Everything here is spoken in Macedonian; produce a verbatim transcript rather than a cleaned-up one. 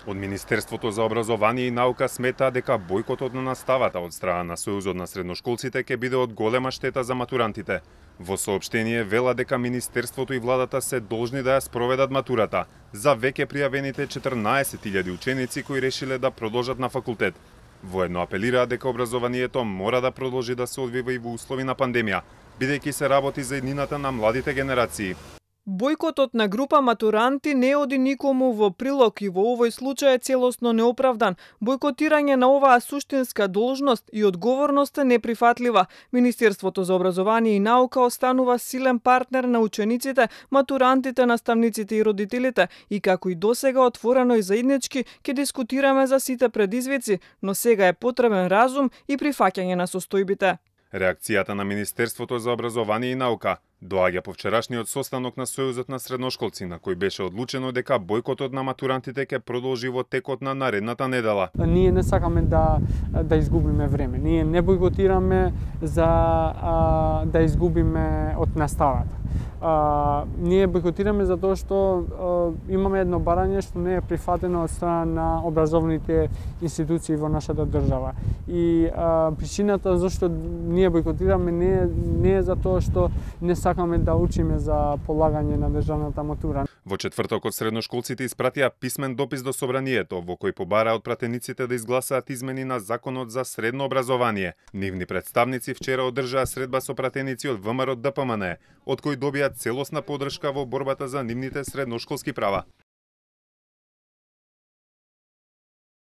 Од Министерството за образование и наука смета дека бојкотот на наставата од страна на Сојузот на средношколците ќе биде од голема штета за матурантите. Во соопштение вела дека Министерството и владата се должни да ја спроведат матурата за веќе пријавените четрнаесет илјади ученици кои решиле да продолжат на факултет. Воедно апелираат дека образованието мора да продолжи да се одвива и во услови на пандемија, бидејќи се работи за еднината на младите генерации. Бојкотот на група матуранти не оди никому во прилог и во овој случај е целосно неоправдан. Бојкотирање на оваа суштинска должност и одговорност е неприфатлива. Министерството за образование и наука останува силен партнер на учениците, матурантите, наставниците и родителите и како и досега отворено и заеднички ќе дискутираме за сите предизвици, но сега е потребен разум и прифаќање на состојбите. Реакцијата на Министерството за образование и наука доаѓа по вчерашниот состанок на Сојузот на средношколци, на кој беше одлучено дека бојкотот на матурантите ќе продолжи во текот на наредната недела. Ние не сакаме да да изгубиме време. Ние не бојкотираме за а, да изгубиме од наставата. А, ние бојкотираме затоа што а, имаме едно барање што не е прифатено од страна на образовните институции во нашата држава. И а, причината зашто ние бојкотираме не е, не е затоа што не сакаме да учиме за полагање на државната матура. Во четвртокот средношколците испратија писмен допис до собранието во кој побараа од пратениците да изгласаат измени на законот за средно образование. Нивни представници вчера одржаа средба со пратеници од ВМРО ДПМН, од кои добија целосна поддршка во борбата за нивните средношколски права.